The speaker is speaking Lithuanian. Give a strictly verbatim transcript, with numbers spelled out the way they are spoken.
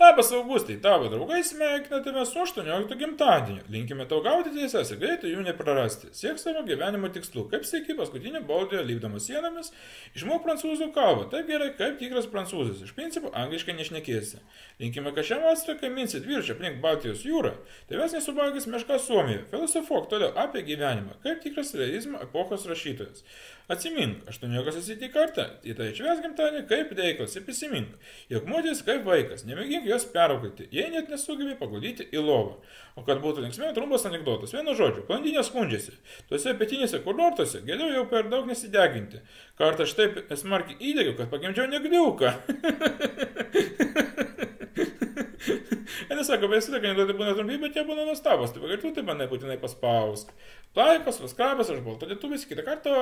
Labas Augustai, tavo draugai sveikina tave su aštuonioliktu gimtadieniu. Linkime tau gauti teises ir greitai jų neprarasti. Siek savo gyvenimo tikslų. Kaip sieki paskutinį boldiją lipdamas sienomis, išmok prancūzų kalbą. Taip gerai, kaip tikras prancūzas. Iš principo, angliškai nešnekėsi. Linkime, kad šią vasarą, kai minsit viršį aplink Baltijos jūrą, tavęs nesuvalgys meška Suomijoje. Filosofuok toliau apie gyvenimą, kaip tikras realizmo epochos rašytojas. Atsimink, aštuoniokas esi tik kartą, į tai švęs gimtadienį kaip reikalas ir prisimink, jog moteris kaip vaikas, nemėgink jos perauklėti, jei net nesugebė paguldyti į lovą. O kad būtų linksmiau, trumpas anekdotas, vienu žodžiu, blondinė skundžiasi, tuose pietinėse kurortuose geriau jau per daug nesideginti. Kartą aš taip smarkiai įdegiau, kad pagimdžiau negriuką. Jis sako, bet visada kandidatai būna trumpi, bet jie būna nuostabus, tai pagartų tai manai būtinai paspausk. Laikas, vaskrabas, aš balto lietuvis, kitą kartą.